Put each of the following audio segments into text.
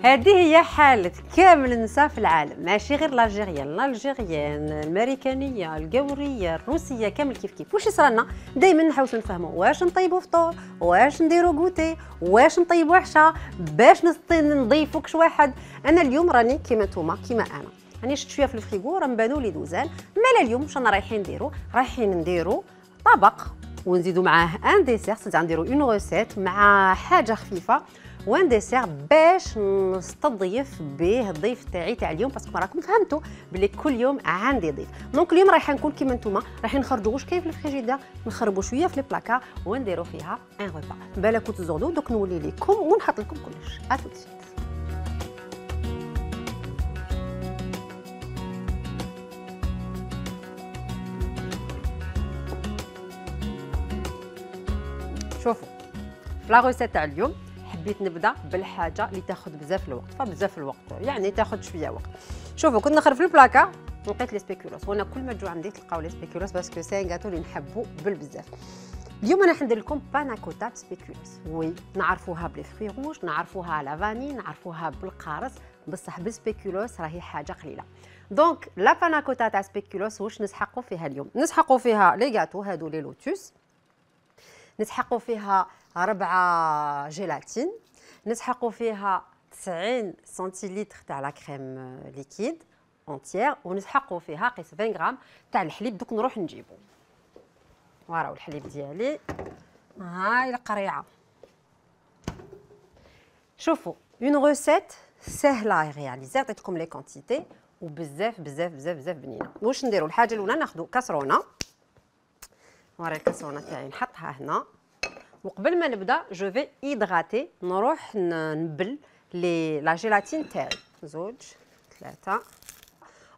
هذه هي حالة كامل النساء في العالم، ماشي غير الالجيريان، الامريكانيه، القوريه، الروسيه، كامل كيف كيف. واش يصرالنا؟ دائما نحاولوا نفهموا واش نطيبوا فطور، واش نديروا غوتي، واش نطيبوا عشاء، باش نضيفوا كش واحد. انا اليوم راني كيما نتوما كيما انا، راني شفت شويه في الفريغو راه مبانوا لي دوزان. مالا اليوم واش رانا رايحين نديروا طبق ونزيدوا معاه ان ديسير، نديروا اون روسيت مع حاجه خفيفه وان ديسير باش نستضيف به الضيف تاع اليوم، باسكو راكم فهمتوا بلي كل يوم عندي ضيف. دونك اليوم رايحه نكون كيما نتوما، رايحين نخرجوا واش كاين في الفريجيدير، نخربوا شويه في البلاكار ونديروا فيها ان روبا. بالك تزغدوا دوك نولي لكم ونحط لكم كلش. اتوت شوفوا في لا روسيت تاع اليوم حبيت نبدا بالحاجه اللي تاخذ بزاف الوقت، فبزاف الوقت يعني تاخذ شويه وقت. شوفوا كنت نخرب في البلاكا لقيت لي سبيكولوس، وانا كل ما تجوا عندي تلقاو لي سبيكولوس باسكو سي ان غاتو اللي نحبو بالبزاف. اليوم انا حندير لكم باناكوتا سبيكولوس. وي نعرفوها بلي فخي روج، نعرفوها لا فاني، نعرفوها بالقارص، بصح بالسبيكولوس راهي حاجه قليله. دونك لا باناكوتا تاع سبيكولوس واش نسحقوا فيها اليوم؟ نسحقوا فيها لي غاتو هادو لي لوتوس، نسحقوا فيها 4 جيلاتين، نسحقوا فيها 90 سنتيلتر تاع لا كريم ليكيد اونتيير، ونسحقوا فيها قيس 20 غرام تاع الحليب. دوك نروح نجيبو. وراو الحليب ديالي، هاي القريعه. شوفوا اون روسيت سهله رياليزي، عطيتكم لي كونتيتي وبزاف بزاف بزاف بزاف بنينه. واش نديروا؟ الحاجه الاولى ناخذوا كاسرونه، وراي الكاسرونه تاعي نحطها هنا. وقبل ما نبدا جو في ايدغاتي، نروح نبل لا جيلاتين تاعي 2 3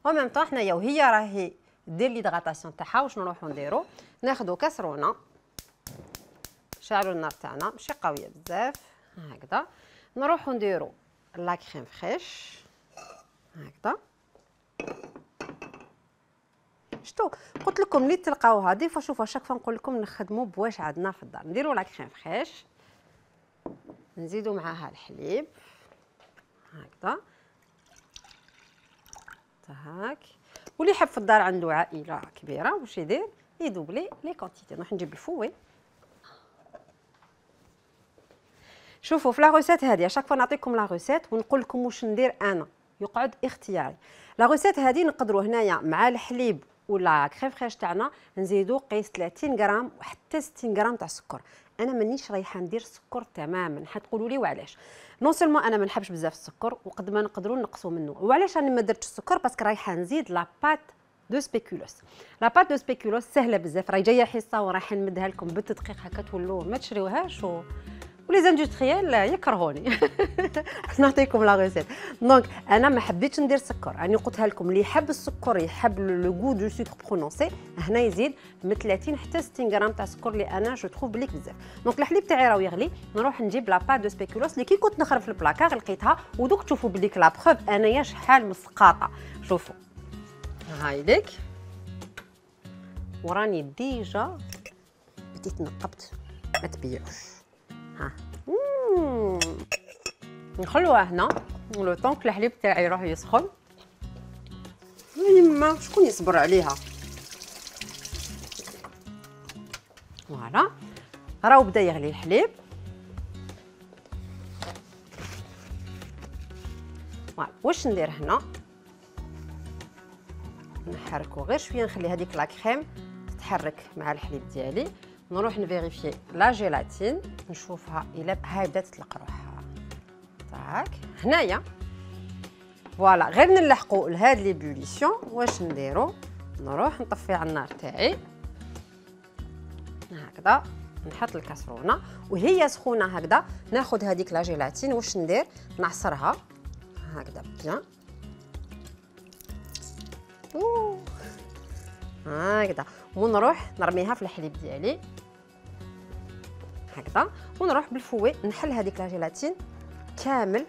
او ميم طون. حنايا وهي راهي دير ليدغاتاسيون تاعها واش نروحو نديرو؟ ناخذوا كاسرونه، نشعلوا النار تاعنا ماشي قويه بزاف هكذا، نروحو نديرو لا كريم فريش هكذا. شتو قلت لكم اللي تلقاوها دي فوا. شوفوا شاك فوا نقول لكم نخدموا بواش عندنا في الدار. نديروا لا كريم فريش، نزيدوا معاها الحليب هكذا هاك. واللي يحب في الدار عنده عائله كبيره واش يدير؟ يدوبلي لي كونتيتي. نروح نجيب الفوي. شوفوا في لا روسيت هذه شاك فوا نعطيكم لا روسيت ونقول لكم واش ندير انا، يقعد اختياري. لا روسيت هذه نقدروا هنايا مع الحليب ولا كريم فريش تاعنا نزيدوا قيس 30 غرام وحتى 60 غرام تاع السكر. انا مانيش رايحه ندير سكر تماما، حتقولوا لي وعلاش. نون سولمون انا ما نحبش بزاف السكر وقد ما نقدروا نقصوا منه. وعلاش انا ما درتش السكر؟ باسكو رايحه نزيد لا بات دو سبيكولوس. لا بات دو سبيكولوس سهله بزاف، راهي جايه حصه وراح نمدها لكم بالتدقيق هكا تولوا ما تشريوهاش ولي زاندستريال يكرهوني. نعطيكم لا ريسيت. دونك انا ما حبيتش ندير سكر، راني قلتها لكم اللي يحب السكر يحب لو غو دو سكر برونونسي هنا يزيد من 30 حتى 60 غرام تاع السكر اللي انا جو تروف بليك بزاف. دونك الحليب تاعي راه يغلي، نروح نجيب لا بات دو سبيكولوس اللي كي كنت نخرب في البلاكار لقيتها. ودوك تشوفوا بليك لا بروف انايا شحال مسقاطه. شوفوا هاي ليك وراني ديجا بديت نقبت ما تبيعوش. ها نخلوها هنا لو طونك الحليب تاعي يروح يسخن. يما شكون يصبر عليها؟ فوالا راهو بدا يغلي الحليب. فوالا واش ندير هنا؟ نحركو غير شويه، نخلي هذيك لا كريم تتحرك مع الحليب ديالي. نروح نفيريفي لا جيلاتين نشوفها الا هاي بدات تطلق روحها تاعك هنايا. فوالا غير نلحقوا لهاد لي بوليسيون. واش نديرو؟ نروح نطفي على النار تاعي هكذا، نحط الكاسرونه وهي سخونه هكذا. ناخذ هذيك لا جيلاتين واش ندير؟ نعصرها هكذا بيان هكذا، ونروح نرميها في الحليب ديالي هكذا، ونروح بالفوي نحل هذيك لا جيلاتين كامل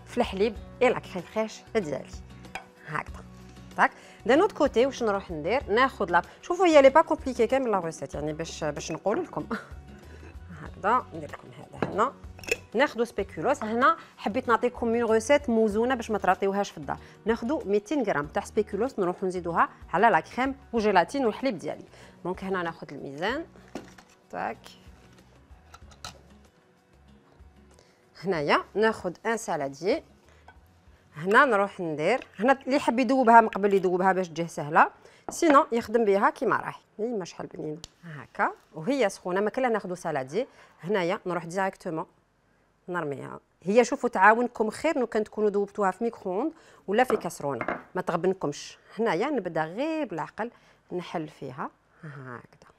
في الحليب اي لا كريم فريش ديالي هكذا. داك دان اوت كوتي واش نروح ندير؟ ناخذ لا شوفوا هي لي با كومبليكي كامل لا ريسيت يعني باش نقول لكم هكذا. ندير لكم هذا هنا ناخذ سبيكولوس. هنا حبيت نعطيكم اون روسيت موزونه باش ما تراطيوهاش في الدار. ناخذ 200 غرام تاع سبيكولوس نروحو نزيدوها على لا كريم وجيلاتين والحليب ديالي. دونك هنا ناخذ الميزان تاك. هنايا ناخذ ان سالاديي. هنا نروح ندير، هنا اللي حاب يذوبها من قبل يذوبها باش تجيه سهله، سينو يخدم بها كيما راهي. ما شحال بنينه هكا وهي سخونه. ما كلا ناخذ سالادي. هنايا نروح ديريكتومون نرميها. هي شوفوا تعاونكم خير لو كان تكونوا ذوبتوها في ميكرووند ولا في كاسرونه ما تغبنكمش. هنايا نبدا غير بالعقل نحل فيها هكذا.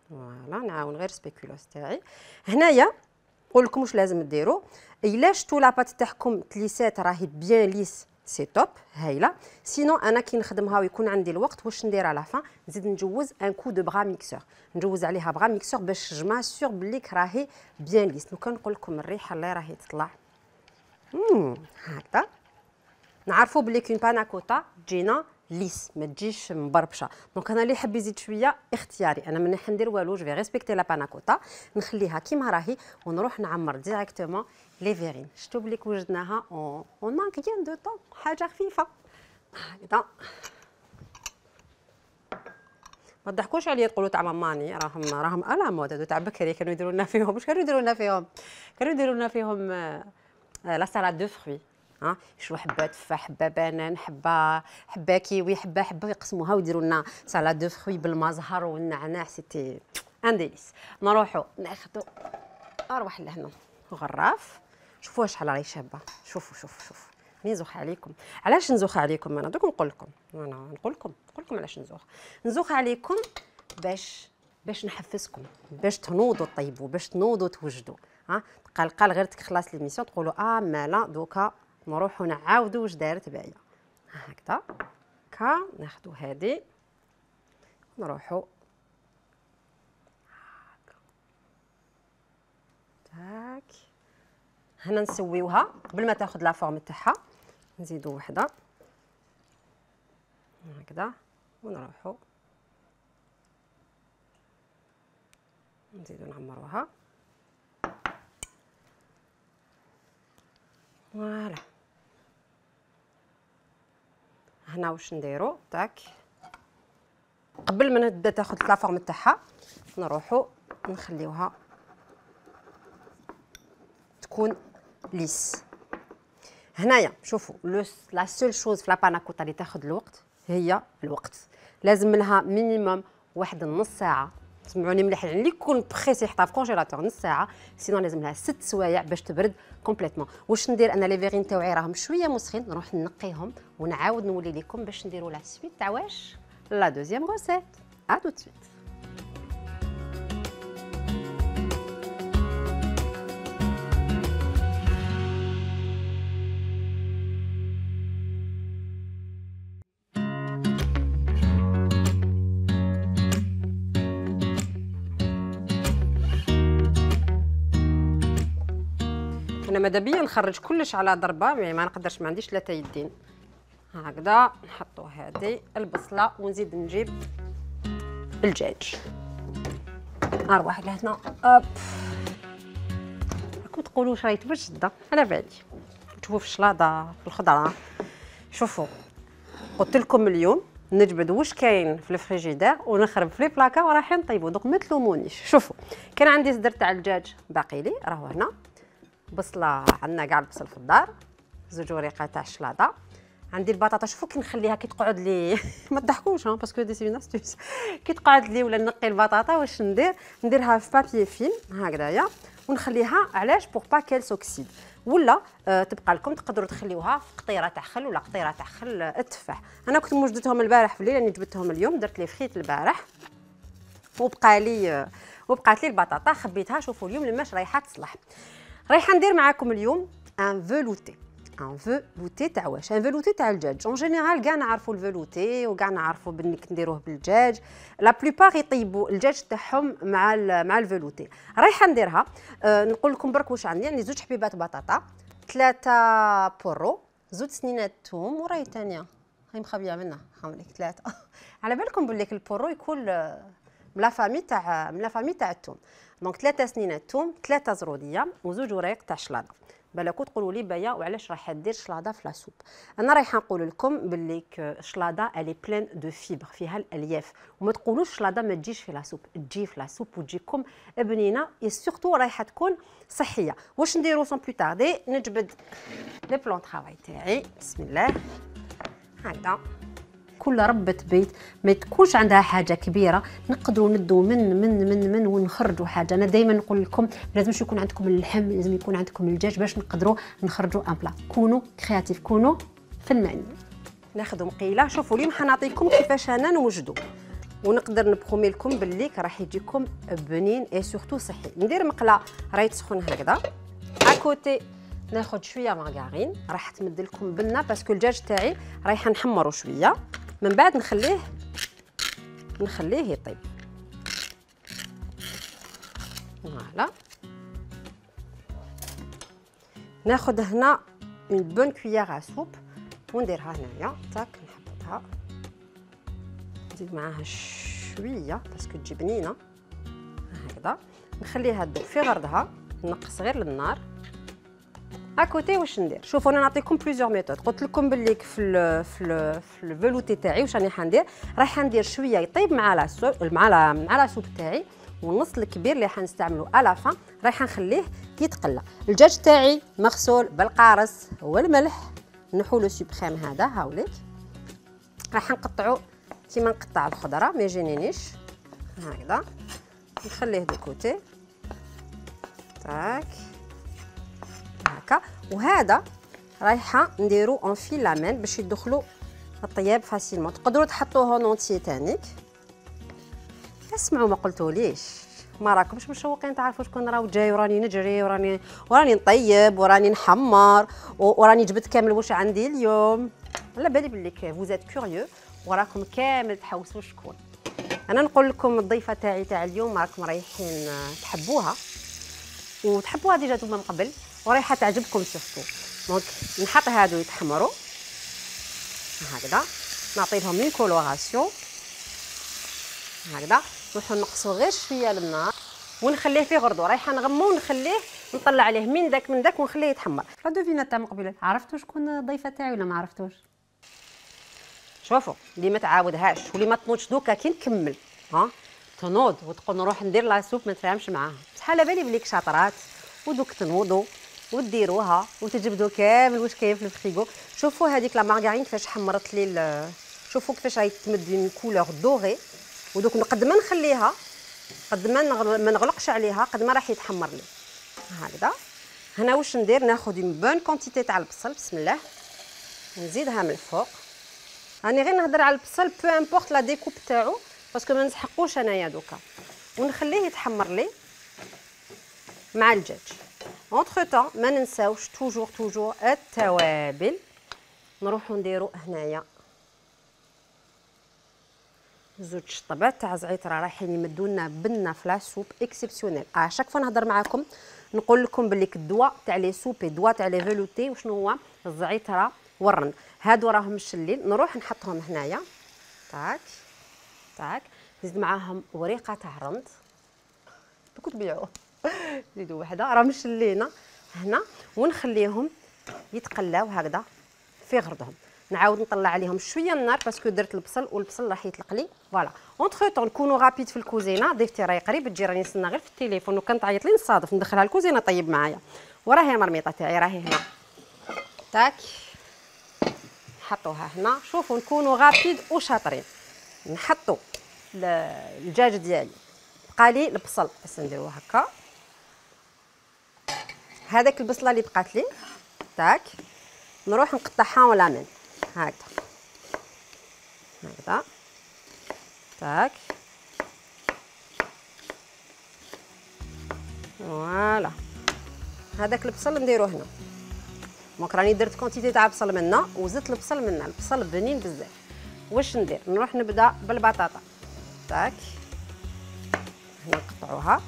فوالا نعاون غير سبيكولوس تاعي. هنايا نقول لكم واش لازم ديروا. الا شفتوا لاباط تاعكم تليسات راهي بيان ليس سي توب هايله. سينو انا كي نخدمها ويكون عندي الوقت واش ندير على فان نزيد نجوز ان كو دو بغا ميكسور، نجوز عليها بغا ميكسور باش جما سور بلي راهي بيان ليس. لو كان نقول لكم الريحه اللي راهي تطلع هكذا نعرفوا بلي كون باناكوتا تجينا ليس ما تجيش مبربشه. دونك انا اللي حاب يزيد شويه اختياري، انا ماني حندير والو جو في ريسبكتي لا باناكوتا نخليها كيما راهي ونروح نعمر ديريكتومون لي فيرين. شفتوا بلي وجدناها اون مانك كيان دو طون حاجه خفيفه هكذا. ما تضحكوش عليا تقولوا تاع ماماني راهم الا مود تاع بكري كانوا يديروا لنا فيهم. واش كانوا يديروا لنا فيهم؟ كانوا يديروا لنا فيهم لا سالاد دو فروي. يشرو حبه تفاح حبه بنان حبه كيوي حبه يقسموها ويديروا لنا سالاد دو فروي بالمزهر والنعناع. سيتي ان ديليس. نروحوا ناخذوا اروح لهنا غراف. شوفوا شحال راهي شابه. شوفوا نزوخ عليكم. علاش نزوخ عليكم؟ انا دوك نقول لكم علاش نزوخ عليكم باش نحفزكم باش تنوضوا طيبوا باش تنوضوا توجدوا. قال غير تخلص ليميسيون تقولوا مالا دوكا نروحوا نعاودوا واش دارت باهيه هكذا. ناخذوا هذه نروحوا تاك. هنا نسويوها قبل ما تاخذ لا فورم تاعها. نزيدوا وحده هكذا ونروحوا نزيدوا نعمروها. فوالا هنا واش نديروا تاك قبل ما نبدا تاخذ لا فورم تاعها نروحوا نخليوها تكون ليس. هنايا شوفوا لا سول شوز في لا باناكوتا اللي تاخذ الوقت هي الوقت. لازم منها مينيموم واحد نص ساعه. سمعوني مليح يعني اللي يكون بريسي يحطها في كونجيلاتور نص ساعه. سينو لازم لها 6 سوايع باش تبرد كومبليتمون. واش ندير انا لي فيرين تاوعي راهم شويه مسخين نروح نقيهم ونعاود نولي لكم باش نديروا لا سويت تاع واش لا دوزيام روسيت. ا تو سويت. انا ماذا بيا نخرج كلش على ضربه ما نقدرش ما عنديش 3 يدين هكذا. نحطوا هذه البصله ونزيد نجيب الدجاج. اروح لهنا راكم تقولوا واش راهي توجد على بالي تشوفوا في الشلاضه في الخضره. شوفوا قلت لكم اليوم نجبد واش كاين في الفريجيدير ونخرب في لي بلاكا ورايحين نطيبوا. دونك ما تلومونيش. شوفوا كان عندي صدر تاع الدجاج باقي لي راهو هنا. بصله عندنا كاع البصل في الدار. 2 وريقات تاع الشلاضه. عندي البطاطا. شوفوا كي نخليها كي تقعد لي ما تضحكوش باسكو دي سي ناستوس. كي تقعد لي ولا نقي البطاطا واش نديرها في بابي فيلم هكذايا ونخليها. علاش؟ بور با كيل سوكسيد. ولا تبقى لكم تقدروا تخليوها في قطيره تاع خل ولا قطيره تاع خل التفاح. انا كنت موجدتهم البارح في الليل راني جبتهم اليوم. درت لي فريت البارح وبقات لي البطاطا خبيتها. شوفوا اليوم لماش رايحه تصلح. رايحه ندير معاكم اليوم ان فلوتي. ان فلوتي تاع واش؟ ان فلوتي تاع الدجاج. اون جينيرال كاع نعرفوا الفلوتي وكاع نعرفوا بلي نديروه بالدجاج. لا بلوبار يطيبوا الدجاج تاعهم مع الفلوتي. رايحه نديرها. نقول لكم برك واش عندي. عندي 2 حبيبات بطاطا 3 بورو 2 سنينات ثوم وراهي ثانيه هاي مخبيه منها خملك 3 على بالكم بلي البورو يكون من لا فامي تاع الثوم. دونك 3 سنينات ثوم، 3 زروديه وزوج ورايق تاع شلاضه. بالكم تقولوا لي بايا وعلاش راح دير شلاضه في لاسوب. انا رايحه نقول لكم باللي الشلاضه الي بلين دو فيبر، فيها الالياف، وما تقولوش شلاضه ما تجيش في لاسوب، تجي في لاسوب وتجيكم بنينه اي سورتو رايحه تكون صحيه. واش نديرو سون بلو تاردي؟ نجبد لي بلون طرافاي تاعي، بسم الله هكذا. كل ربة بيت ما تكونش عندها حاجه كبيره نقدروا ندو من ونخرجوا حاجه. انا دائما نقول لكم لازمش يكون عندكم اللحم، لازم يكون عندكم الدجاج باش نقدروا نخرجوا ان بلا. كونوا كرياتيف، كونوا فنانين. ناخذ مقيله، شوفوا اليوم حنعطيكم كيفاش انا نوجدوا ونقدر نبرومي لكم باللي راح يجيكم بنين اي سورتو صحي. ندير مقله راهي تسخن هكذا، اكوتي ناخذ شويه مارغرين، راح تمد لكم بنه باسكو الدجاج تاعي رايحه نحمرو شويه، من بعد نخليه يطيب. فوالا ناخذ هنا اون بون كويير ا سوب ونديرها هنايا، تاك نحطها، نزيد معاها شويه باسكو تجي بنينه هكذا، نخليها تذوب في غردها، نقص غير للنار. اكوتي واش ندير؟ شوفوا انا نعطيكم بليزيور ميثود. قلت لكم باللي في الفلوتي تاعي واش راني حندير، راح ندير شويه يطيب مع لا سوب تاعي، والنص الكبير اللي حنستعملو الافان راح نخليه يتقلى. الدجاج تاعي مغسول بالقارص والملح، نحو لو سوبريم هذا هاوليك، راح نقطعو كيما نقطع الخضره ما يجينيش هكذا، نخليه دو كوتي تاك هكا. وهذا رايحه نديرو اون فيلامين باش يدخلوا الطياب فاسيلمون. تقدروا تحطوه نونتي تانيك. اسمعوا ما قلتوليش، ما راكمش مشوقين تعرفوا شكون راه جاي وراني نجري وراني نطيب وراني نحمر وراني جبت كامل واش عندي اليوم. على بالي بلي فوزات كوريو وراكم كامل تحوسوا شكون. انا نقول لكم الضيفه تاع اليوم راكم رايحين تحبوها ديجا نتوما من قبل ورايحه تعجبكم سورتو. دونك نحط هادو يتحمروا هكذا، نعطي لهم اون كولوراسيون هكذا، نروحو نقصو غير شويه للنار ونخليه في غردو. رايحه نغمو ونخليه نطلع عليه من داك ونخليه يتحمر. لا دوفينا تاع من قبل، عرفتوا شكون الضيفه تاعي ولا ما عرفتوش؟ شوفوا اللي ما تعاودهاش واللي ما تنوضش دوكا كي نكمل تنوض وتقول نروح ندير لاسوب ما تفهمش معاها. بصح على بالي بليك شاطرات ودوك تنوضوا وديروها وتجبدوا كامل واش كاين في الفريغو. شوفوا هذيك لا مارغرين كيفاش حمرت لي شوفوا كيفاش راهي تمد اون كولور دوري. ودوك قد ما نخليها قد ما نغلقش عليها قد ما راح يتحمر لي هكذا. هنا واش ندير؟ ناخذ اون بون كونتيتي تاع البصل، بسم الله، نزيدها من الفوق. راني غير نهضر على البصل بو امبورط لا ديكوب تاعو باسكو ما نسحقوش انايا دوكا، ونخليه يتحمر لي مع الدجاج. اونتر طون ما ننساوش توجور التوابل. نروحو نديرو هنايا زوج شطبات تاع زعتر رايحين يمدوا لنا بنه في لاسوب اكسبسيونيل. شاك فوا نهضر معاكم نقول لكم باللي الدواء تاع لي سوبي الدواء تاع لي فيلوتي وشنو هو؟ الزعتره والرند. هادو راهم مشلين، نروح نحطهم هنايا تاك نزيد معاهم وريقه تاع رند دوك تبيعوه زيدوا وحده راه مشلينا هنا، ونخليهم يتقلاو هكذا في غردهم. نعاود نطلع عليهم شويه النار باسكو درت البصل والبصل راح يطلق لي. فوالا اونتر طون نكونوا رابيد في الكوزينه. ضيفتي راهي قريب تجي، راني نستنى غير في التليفون وكان تعيط لي نصادف ندخلها الكوزينه طيب معايا. وراهي المرميطه تاعي راهي هنا تاك نحطوها هنا. شوفوا نكونوا رابيد وشاطرين. نحطوا الدجاج ديالي، بقى لي البصل بس نديروه هكا. هذاك البصله اللي بقات لي تاك نروح نقطعها ولا من هكذا تاك. فوالا هذاك البصل نديروه هنا. دونك راني درت كونتيتي تاع بصل منا وزدت البصل منا. البصل بنين بزاف. واش ندير؟ نروح نبدا بالبطاطا تاك. هنا نقطعوها،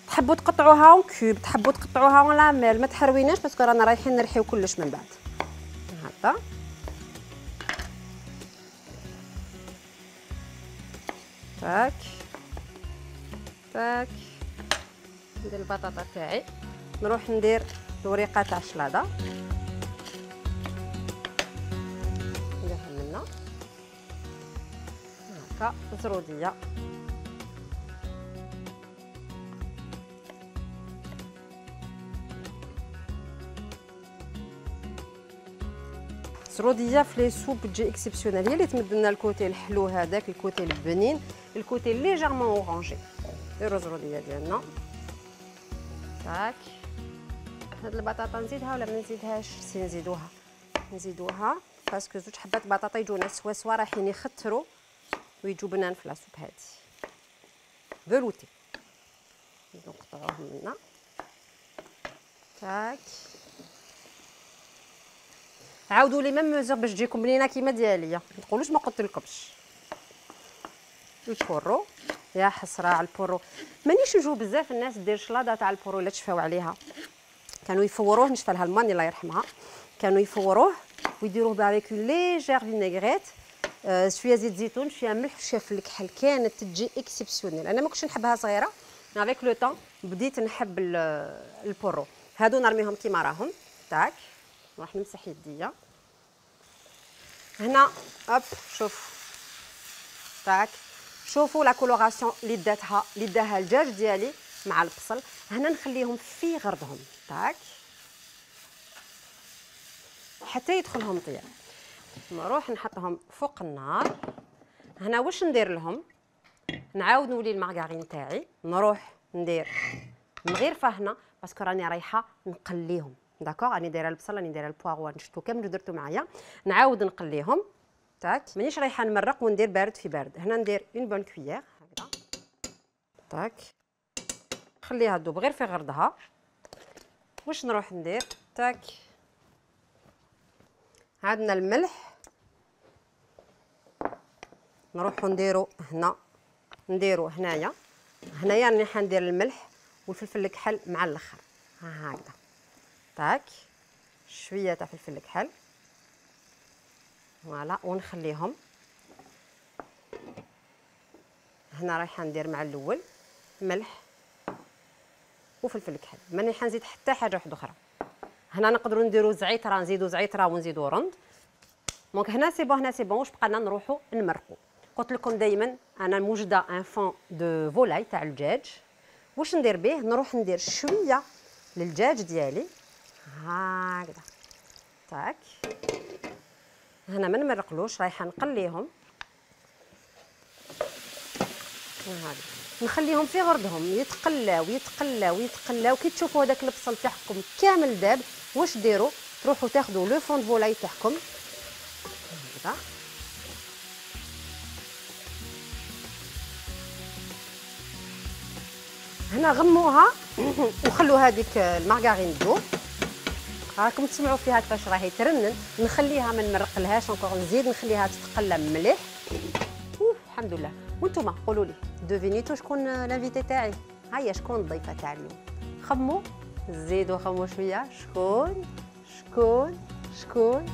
تحبوا تقطعوها اون كوب، تحبوا تقطعوها ولا مال، ما تحرويناش باسكو رانا رايحين نرحيو كلش من بعد هكذا. تاك ندير البطاطا تاعي، نروح ندير الوريقه تاع الشلاضه، نديرها منا هكا زروديه، الزروديه في لي سوب تجي اكسبسيونيل، هي اللي تمد لنا الكوتي الحلو هذاك، الكوتي البنين، الكوتي ليجيرمون اورانجي. نديرو الزروديه ديالنا تاك. هاد البطاطا نزيدها ولا ما نزيدهاش؟ سي نزيدوها باسكو زوج حبات بطاطا يجونا سوا رايحين يخثروا ويجوا بنان في لاصوب هادي فلوتي. نقطعوهم منا تاك. عاودوا لي ميم ميزور باش تجيكم بنينه كيما ديالي، ما تقولوش ما قلتلكمش. البورو يا حسره على البورو، مانيش نجو بزاف الناس دير شلاضه تاع البورو لا تشفاو عليها، كانوا يفوروه، نشفى لها الماني الله يرحمها، كانوا يفوروه ويديروه بافيك ليجير فينيغريت، شويه زيت زيتون، شويه ملح، شويه فل الكحل، كانت تجي اكسبسيونيل. انا ما كنتش نحبها صغيره، افيك لو طون بديت نحب البورو. هادو نرميهم كيما راهم تاك. نروح نمسح يديا هنا، هوب شوف تاك، شوفوا لا كولوراسيون اللي داها الدجاج ديالي مع البصل. هنا نخليهم في غرضهم تاك حتى يدخلهم طياب. نروح نحطهم فوق النار. هنا واش ندير لهم؟ نعاود نولي المارغرين تاعي، نروح ندير مغيرفه هنا باسكو راني رايحه نقليهم. داكوغ، راني دايره البصل، راني دايره البواغو، نشتو كامل درتو معايا، نعاود نقليهم تاك. مانيش رايحه نمرق وندير بارد في بارد. هنا ندير اون بون كويير هكذا تاك، نخليها تذوب غير في غردها. واش نروح ندير تاك؟ عندنا الملح، نروحو نديرو هنا، نديرو هنايا راني حندير الملح والفلفل الكحل مع الاخر هكذا تاك، شويه تاع فلفل الكحل فوالا، ونخليهم. هنا رايحه ندير مع الاول ملح وفلفل الكحل، ماني حنزيد حتى حاجه واحده اخرى. هنا نقدروا نديروا زعيتره، نزيدوا زعيتره ونزيدوا رند. دونك هنا سي بون، واش بقى لنا؟ نروحوا نمرقوا. قلت لكم دائما انا موجده ان فون دو فولاي تاع الدجاج. واش ندير به؟ نروح ندير شويه للدجاج ديالي هكذا تاك. هنا ما نمرقلوش، رايحه نقليهم هكذا، نخليهم في غردهم يتقلاو يتقلاو يتقلاو. كي تشوفوا هذاك البصل تاعكم كامل داب، واش ديروا؟ تروحوا تاخذوا لو فون فولاي تاعكم هكذا هنا، غموها وخلوا هذيك المارغرين تذوب. راكم تسمعوا فيها كيفاش راهي ترنن. نخليها ما نمرقلهاش انكور، نزيد نخليها تتقلى مليح. الحمد لله. وانتم قولوا لي دوفينيتو شكون لانفيتي تاعي؟ هيا شكون الضيفه تاع اليوم؟ خموا، زيدوا خموا شويه. شكون شكون شكون؟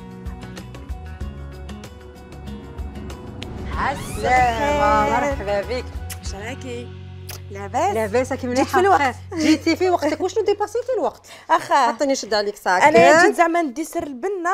السلامه، مرحبا بك. واش راكي؟ لاباس؟ لاباس كي جيت في الوقت. جيتي في وقتك. وشنو ديباسيتي الوقت؟ اخا حطيني نشد عليك ساكت. انا جيت زعما ندي سر البنه.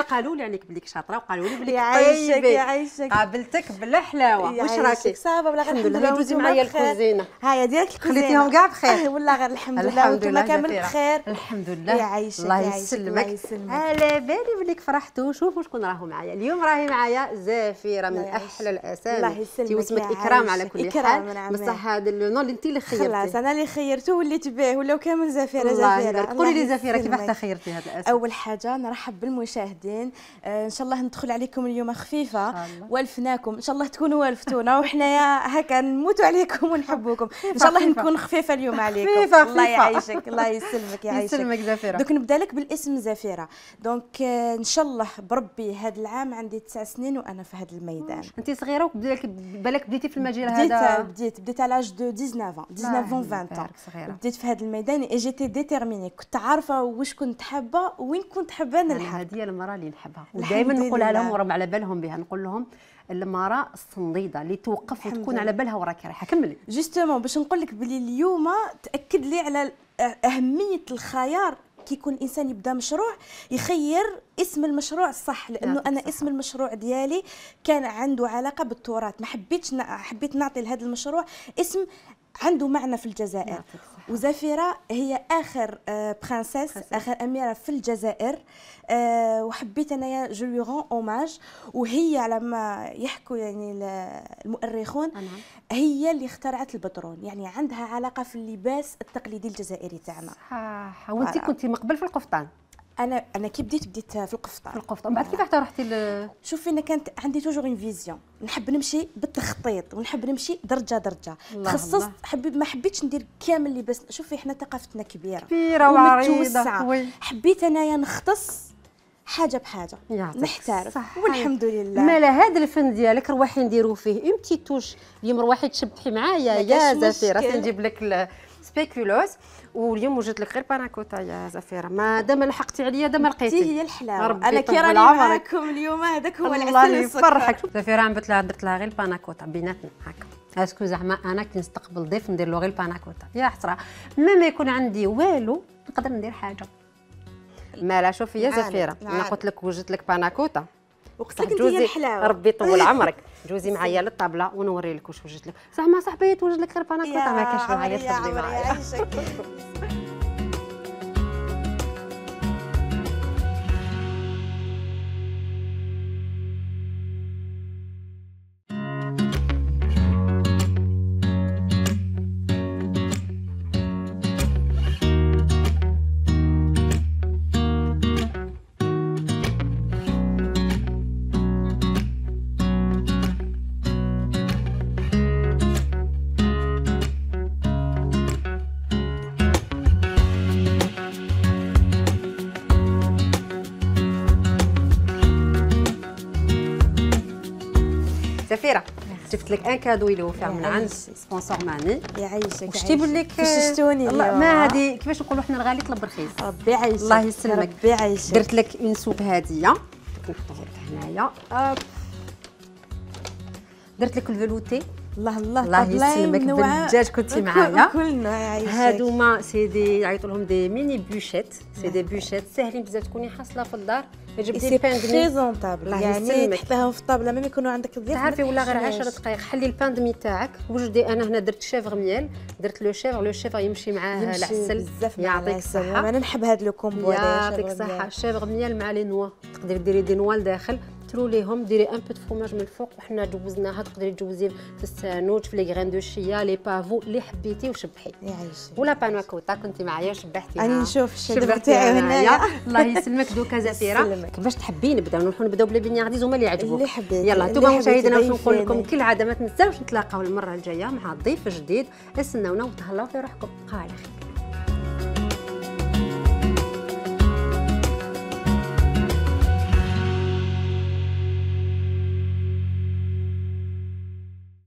قالوا لي عليك بليك شاطره، وقالوا لي بليك يعيشك يعيشك. قابلتك بلا حلاوه. واش راكي؟ صافا بلا غير الحمد لله. دوزي معايا الكوزينه. هايا ديالك الكوزينه خليتيهم كاع بخير؟ والله غير الحمد لله. وانتم كامل بخير؟ الحمد لله. يعيشك الله يسلمك. على بالي بليك فرحتوا. شوفوا شكون راهو معايا اليوم. راهي معايا زافيره من احلى الاسامي. الله يسلمك. واسمك اكرام على كل حال. بصح هذا لو نون اللي انت اللي خيرتي. خلاص انا اللي خيرته وليت به، ولاو كامل زفيره. قولي لي زفيره كيفاش خيرتي هذا الاسم؟ اول حاجه نرحب بالمشاهدين، ان شاء الله ندخل عليكم اليوم خفيفه والفناكم، ان شاء الله تكونوا والفتونا وحنايا هكا نموتوا عليكم ونحبوكم. ان شاء الله نكون خفيفه اليوم عليكم. خفيفة. الله يعيشك. الله يسلمك. يعيشك. يسلمك زفيره. دوك نبدا لك بالاسم زفيره. دونك ان شاء الله بربي هذا العام عندي 9 سنين وانا في هذا الميدان. انت صغيره بالك بديتي في المجال هذا؟ بديت على لاج دو 19 20 بديت في هذا الميدان اي جيتي ديتيرميني، كنت عارفه واش كنت حابه وين كنت حابه نلحق. هذه هي المراه اللي نحبها ودائما نقولها لهم وراهم على بالهم بها، نقول لهم المراه الصنديده اللي توقف وتكون على بالها وراك رايحه. كملي جوستومون باش نقول لك بلي اليوم تاكد لي على اهميه الخيار. كي يكون الانسان يبدا مشروع يخير اسم المشروع الصح، لانه انا اسم المشروع ديالي كان عنده علاقه بالتراث، ما حبيت نعطي لهذا المشروع اسم عنده معنى في الجزائر. وزفيرة هي اخر برانسيس، اخر اميره في الجزائر، وحبيت انايا جو لو رون اوماج. وهي على ما يحكوا يعني المؤرخون هي اللي اخترعت البطرون، يعني عندها علاقه في اللباس التقليدي الجزائري تاعنا. صح. وانت كنتي من قبل في القفطان؟ انا كي بديت في القفطان. بعد كيف حتى رحتي شوفي انا كانت عندي توجور اون فيزيون، نحب نمشي بالتخطيط ونحب نمشي درجه درجه. تخصصت ما حبيتش ندير كامل لباس. شوفي احنا ثقافتنا كبيره وعريضه، حبيت انايا نختص حاجه بحاجه، نحترف والحمد لله. مالا هذا الفن ديالك رواحي نديرو فيه اون بتي توش. اليوم رواحي تشبحي معايا يا زفيره، نجيب لك سبيكولوس. واليوم وجدت لك غير باناكوتا يا زفيره، ما دام لحقتي عليا دام لقيتي. هي الحلاوه. انا كي راني معاكم اليوم هذاك هو العسل الله يفرحك. زفيره درت لها غير الباناكوتا بيناتنا هكا. اسكو زعما انا كي نستقبل ضيف ندير له غير الباناكوتا؟ يا حسره، ما يكون عندي والو نقدر ندير حاجه. مالا شوفي يا زفيره، انا قلت لك وجدت لك باناكوتا وقلت لك انت الحلاوه. ربي يطول عمرك. جوزي معايا للطابله ونوري لك واش وجدت لك. زعما صاحبي توجد لك غير باناكوتا، ما كاينش معايا تفضلي معايا. زفيره جبت لك ان كادو اللي هو فيه من عند سبونسور ماني. يعيشك. واش تيبان لك؟ فششتوني ما هذه كيفاش نقولوا حنا الغالي طلب رخيص. ربي يعيشك. الله يسلمك. ربي يعيشك. درت لك اون سوب هديه نحطوها لك هنايا. درت لك الفلوتي. الله يسلمك بالدجاج كنتي معايا. كلنا يعيشك. هادوما سيدي يعيطوا لهم دي ميني بوشيت، سي بوشيت ساهلين بزاف تكوني حاصله في الدار. سي بريزونطابل، يعني تحطيهم في الطابله ما يكونوا عندك ضيوف. تعرفي ولا غير 10 دقائق حلي البان دمي تاعك. وجدي انا هنا درت شيفر ميال، درت لو شيفر يمشي معاه العسل. يعطيك الصحه. انا نحب هذا لو كومبو. يعطيك الصحه. الشيفر ميال مع لي نوا، تقدري ديري دي نوا لداخل تروليهم، ديري ان بو دو فروماج من الفوق. وحنا جوزناها، تقدري تجوزيه في السانوت، في لي غران دو شيا، لي بافو اللي حبيتي وشبحي. يعيشك. ولا باناكوتا كنتي معايا شبحتيها. راني نشوف الشبح تاعي هنايا. الله يسلمك. دوكا زفيره كيفاش تحبي نبداو بلا بنياغديز هما اللي يعجبوك. اللي حبيت. يلا انتم مشاهدينا واش نقول لكم كالعاده ما تنساوش نتلاقاو المره الجايه مع ضيف جديد. استناونا وتهلاو في روحكم. على خير.